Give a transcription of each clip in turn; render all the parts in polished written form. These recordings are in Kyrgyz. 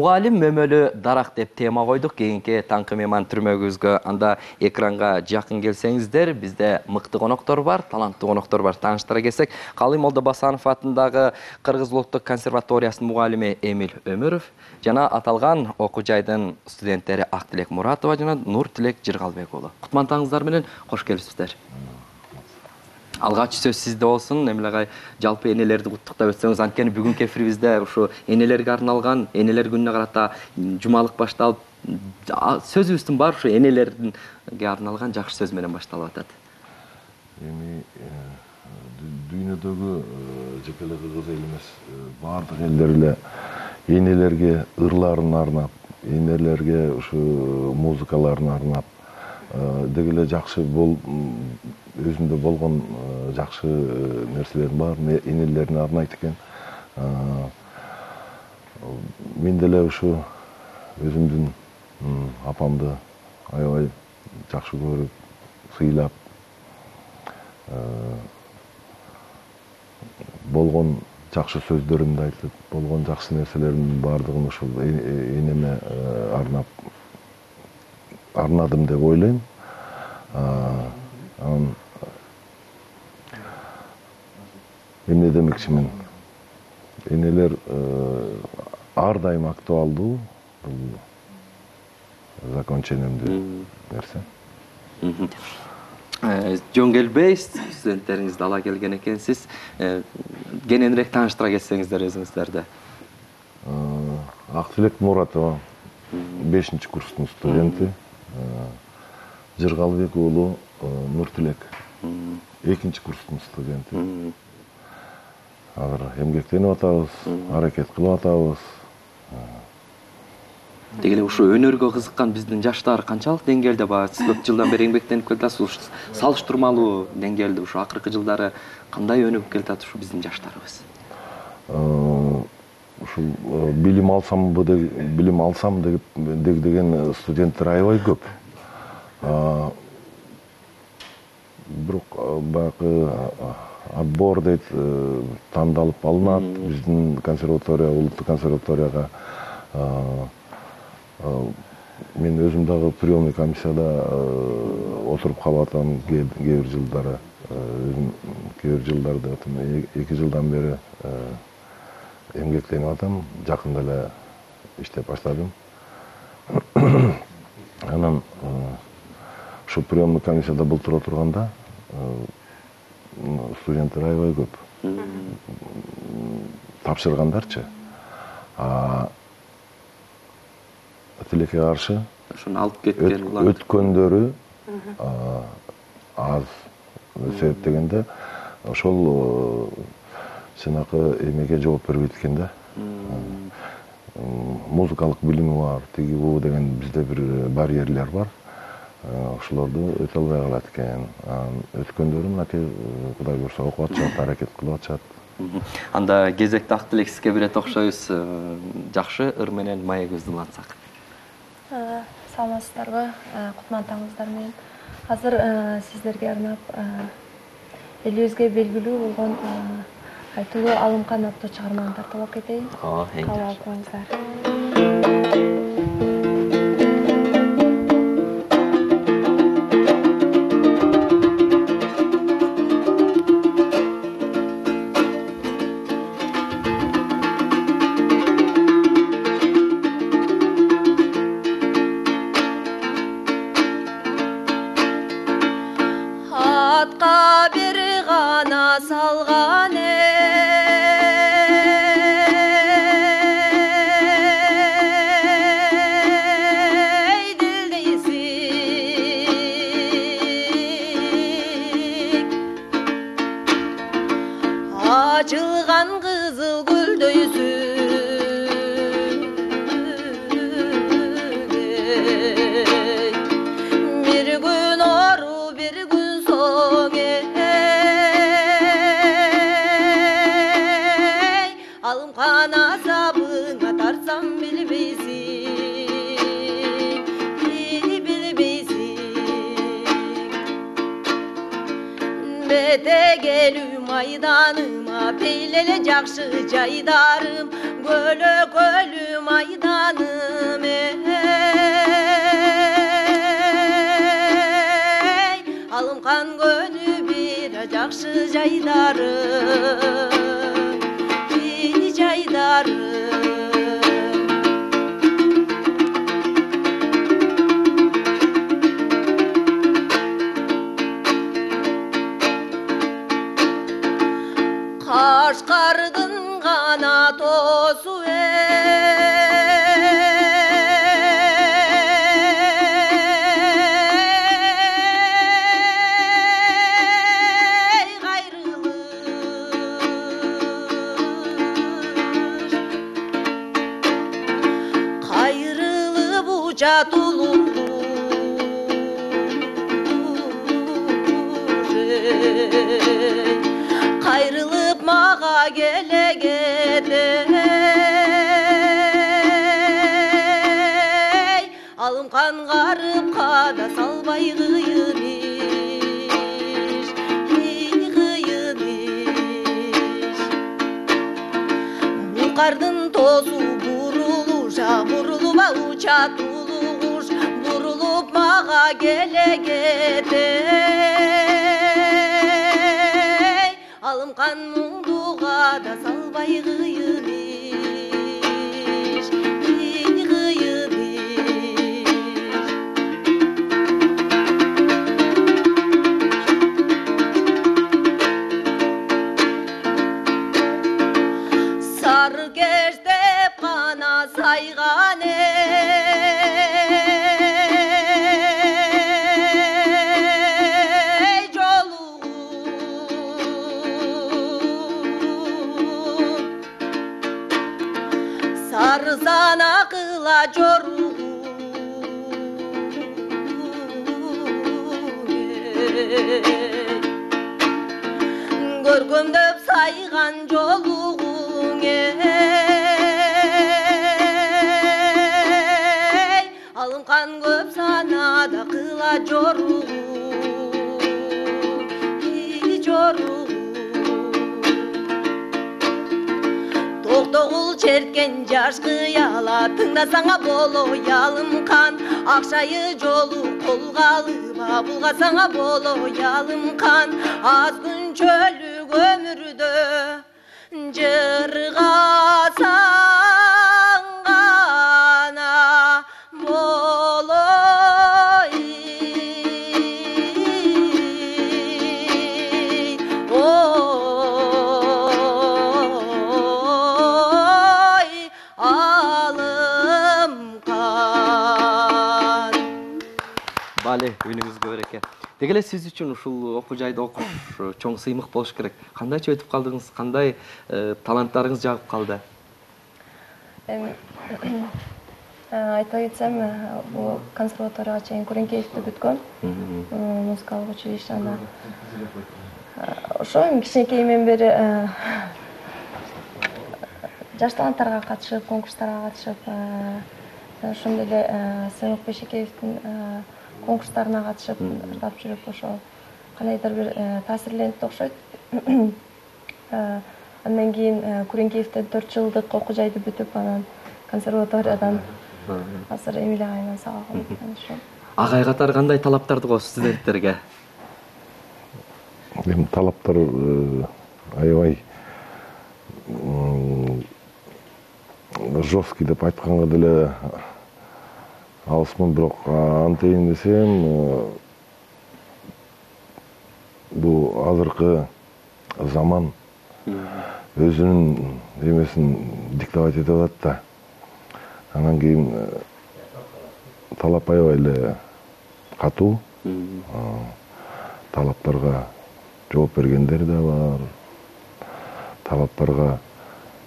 Мугалим мөмөлү дарак деп тема койдук кийинки таңкы мейман түрмөгүбүзгө. Анда экранга жакын келсеңиздер, бизде мыкты коноктор бар, таланттуу коноктор бар. Тааныштыра келсек, Калый Молдобасанов атындагы Кыргыз улуттук консерваториясынын мугалими Эмил Өмүров жана аталган окуу жайдын студенттери Актилек Муратова жана Нуртилек Жыргалбек уулу. Кутмандыгыңыздар менен кош келипсиздер. Алгач сөз сизде болсун. Эмилегай жалпы энелерди куттуктап өтсөңүз, анткени бүгүнкү эфирибизде ушу энелерге арналган, энелер күнүнө карата жумалык башталып, сөзүбүздүн баары ушу энелерге арналган жакшы сөз менен башталып атат. Эми дүйнөдөгү жеке эле Кыргыз эл эмес, баардык элдер эле энелерге ырларын арнап, энелерге ушу музыкаларын арнап, деги эле жакшы өзүндө болгон жакшы нерселердин баарын энелерине арнайт экен. Мен деле ушу өзүмдүн апамды аябай жакшы көрүп, сыйлап, болгон жакшы сөздөрүмдү айтып, болгон жакшы нерселердин баардыгын ушул энеме арнадым деп ойлойм. Эмне демекчимин? Энелер ар дайым актуалдуу, бул закончениемдүү нерсе. Жөн келбей, студенттериңизди ала келген экенсиз. Кененирээк тааныштыра кетсеңиздер өзүңүздөрдү. Актилек Муратова 5-курстун студенти, Жыргалбек уулу Нуртилек 2-курстун студенти. Азыр эмгектенип атабыз, аракет кылып атабыз. Деги эле ушу өнөргө кызыккан биздин жаштар канчалык деңгээлде бар? Сиз көп жылдан бери эмгектенип келатасыз. Салыштырмалуу деңгээлде ушу акыркы жылдары кандай өнүгүп келатат ушу биздин жаштарыбыз? Ушул билим алсам деген студенттер аябай көп. Бирок баягы отбор дейт, тандалып алынат. Биздин консерватория, улуттук консерваторияга мен өзүм дагы приемный комиссияда отуруп калып атам кээ бир жылдары. Кээ бир жылдарда 2 жылдан бери эмгектенип атам. Жакында эле иштеп баштадым. Анан ушу приемный комиссияда былтыр отурганда студенттер аябай көп. Тапшыргандарчы. Тилекке каршы ошону алып кеткен өткөндөрү аз себептегенде ошол жанакы эмеге жооп бербейт экен да. Музыкалык билими бар, тиги бу деген бизде бир барьерлер бар. Ошолорду өтө албай калат экен. Өткөндөрү мынакей Кудай буйрса окуп атышат, аракет кылып атышат. Анда кезекте Актилек сизге берет окшойбуз. Жакшы ыр менен маегибизди улантсак. Саламатсыздарбы? Кутмандыгыңыздар менен. Азыр сиздерге арнап элибизге белгилүү болгон Айтылуу Алымкан аттуу чыгарманы тартып кетейин. Кабыл алып коюңуздар. Атка бир гана салган açılgan kızıl gülдөйсүң bir gün oru bir gün soң Алымкан азабыңа тарсам билбейсиң келбете келүү майданыма, пейлеле жакшы жайдарым, көлөкөлүү майданым алымкан көнү бир жакшы жайдарым, жайдарым. Кашкардын гана тосу кайрылып учатулур кайрылып мага келегеде алымкан карып када салбай кыйын иш, кыйын иш. Бул кардын тосу бурулуша, бурулуба учатулуш, бурулуп мага келегеде алымкан муңдуга да салбай кыйын иш, кыйын иш. Сары кештеп гана сайган сарзана кыла жору көргөмдөп сайган жолугуң алымкан көп санада кыла жору жору токтогул черткен жаш кыяла тыңдасаңа боло ялымкан акчайы жолу колго алыба булгасаңа боло ялымкан аз күнчөлүк өмүрдө жыргасаң гана боло Бали, үнүңүзгө береке. Деги эле сиз үчүн ушул окуу жайда окуш чоң сыймык болуш керек. Кандайча өтүп калдыңыз? Кандай таланттарыңыз жагып калды? Айта кетсем, бул консерваторияга чейин Куренкеевде бүткөм. Музыкалык училищеда. Ошо кичинекейимден бери жаш таланттарга катышып, конкурстарга катышып, ошондой эле Сыймык Бешекеевдин конкурстарына катышып ырдап жүрүп, ошо кандайдыр бир таасирленди окшойт. Андан кийин Куренкеевден 4 жылдык окуу жайды бүтүп, анан консерваториядан азыр Эмилия айынан сабагым ошо. Агай катары кандай талаптарды коесуз студенттерге? Эми талаптар аябай жесткий деп айтканга деле алысмын, бирок антейин десем, бул азыркы заман өзүнүн эмесин диктовать этип атат да. Анан кийин талап аябай эле катуу. Талаптарга жооп бергендер да бар. Талаптарга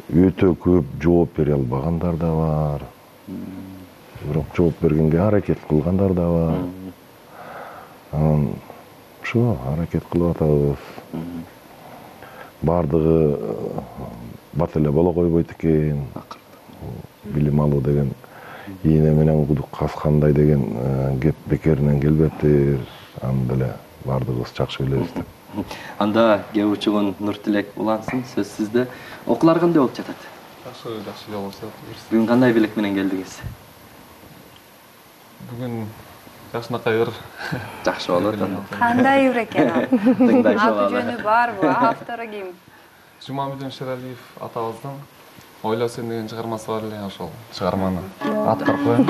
өтө көп жооп бере албагандар да бар. Бирок жооп бергенге аракет кылгандар да бар. Анан ошо аракет кылып атабыз. Бардыгы бат эле боло койбойт экен. Билим алуу деген ийне менен кудук каскандай деген кеп бекеринен келбептир. Аны деле бардыгыбыз жакшы билебиз да. Анда кээ учугун Нуртилек улансын, сөз сизде. Окуулар кандай болуп жатат? Жакшы жолуп жатат. Бүгүн кандай белек менен келдиңиз? Бүгүн жакшынакай ыр. Жакшы болуп атат. Кандай ыр экен ал? Тыңдайшы Аты балдар. жөнү барбы? Автору ким? Жумамедин Шералиев атабыздын Ойло сен деген чыгармасы бар эле, ошол чыгарманы аткарып коем.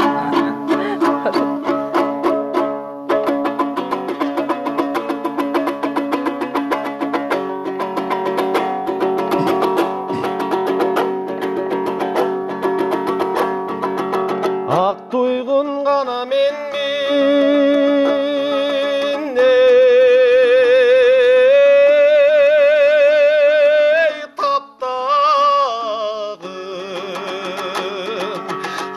Ак туйгун гана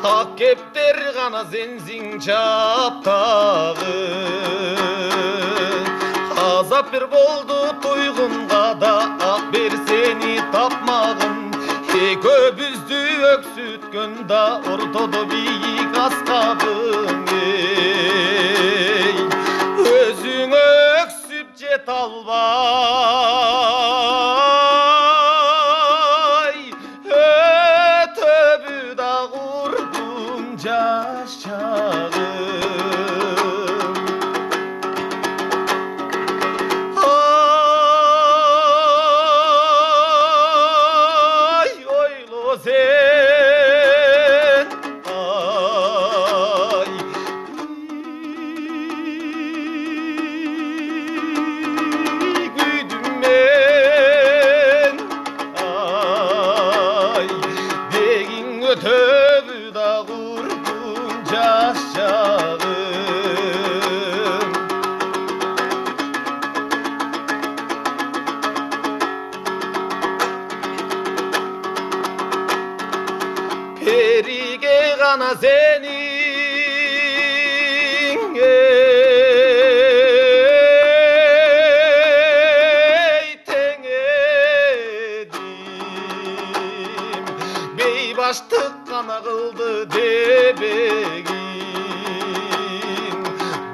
ак кептер гана сенсиң чаптагы. Азап бир болду туйгунга да ак бер сени тапмагын. Экөөбүздү өксүткөн да ортодо бийик аскабың. Өзүң өксүп жете албай, өтөбү да курдум жаш чагым. Ötübü da kurdun jаш çağım. Perige gana senin tengedim. Beybaştık kana kıldı debegin.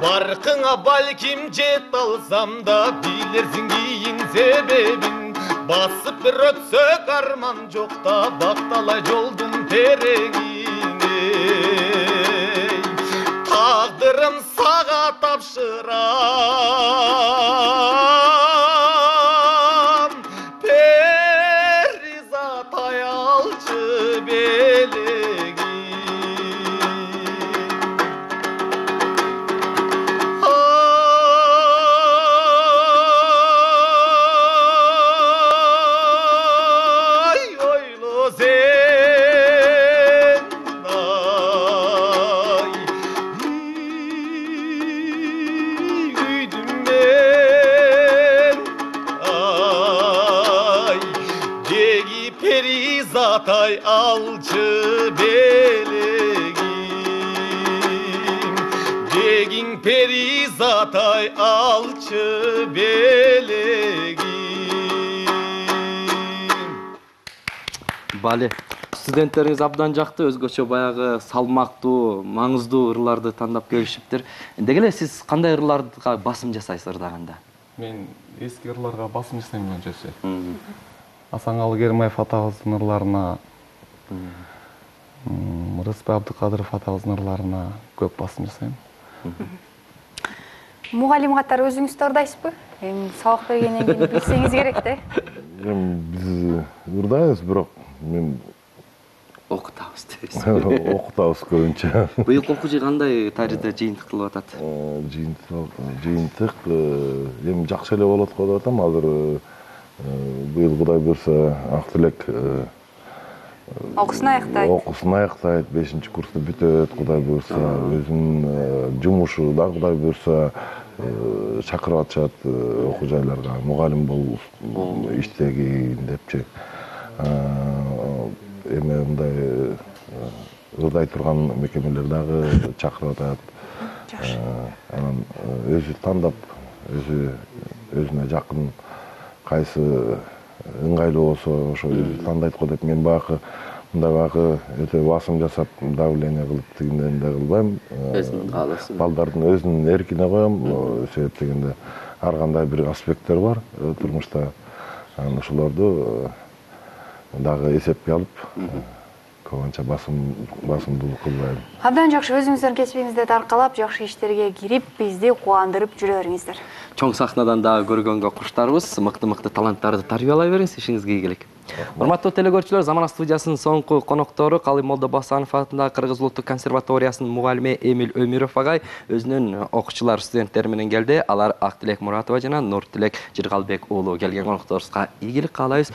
Barkına balkim jet alsam da bilirsin giyin sebebin. Basıp bir ötsök arman жоқ та бакталай жолдун тереңине. Тагдырым сага тапшырам, перизатай алчы белегин. Perizatay alçı belegim, degin perizatay alçı belegim. Бали, студенттериңиз абдан жакты, өзгөчө баягы салмактуу, маңыздуу ырларды тандап келишиптир. Деги эле сиз кандай ырларга басым жасайсыз ырдаганда? Мен эски ырларга басым жасайм көбүнчөсү. Асаналы Керимаев атабыздын ырларына, Рыспай Абдыкадыров атабыздын ырларына көп басым жасайм. Мугалим катары өзүңүз да ырдайсызбы? Эми сабак бергенден кийин билсеңиз керек да. Биз ырдайбыз, бирок мен Окутабыз дейсиз. окутабыз көбүнчө. Быйылкы окуу жыл кандай тарихта жыйынтык кылып атат? Жыйынтык эми жакшы эле болот го деп атам. Азыр быйыл Кудай буйрса Ак Тилек Окуусун аяктайт. Окуусун аяктайт, 5-курсту бүтөт, Кудай буйрса. Өзүнүн жумушу да Кудай буйрса чакырып атышат окуу жайларга. Мугалим болуп иштегин депчи. Эми мындай ырдай турган мекемелер дагы чакырып атат. Анан өзү тандап, өзүнө жакын кайсы ыңгайлуу болсо ошо өзү тандайт го деп мен баягы өтө басым жасап давление кылып тигинден да кылбайм. Өзүнүн каалоосу. Балдардын өзүнүн эркине коем, себеп дегенде ар кандай бир аспекттер бар турмушта. Анан ошолорду дагы эсепке алып, көбүнчө басымдуулук кылбайм. Абдан жакшы, өзүңүздөрдүн кесибиңизде таркалап, жакшы иштерге кирип, бизди кубандырып жүрө бериңиздер. Чоң сахнадан дагы көргөнгө куштарбыз. Мыкты таланттарды тарбиялай бериңиз, ишиңизге ийгилик. Урматтуу телекөрүүчүлөр, Замана студиясынын соңку коноктору Калый Молдобасанов атындагы Кыргыз Улуттук консерваториясынын мугалими Эмиль Өмүров агай өзүнүн окуучулар, студенттери менен келди. Алар Актилек Муратова жана Нуртилек Жыргалбек уулу келген конокторубузга ийгилик каалайбыз.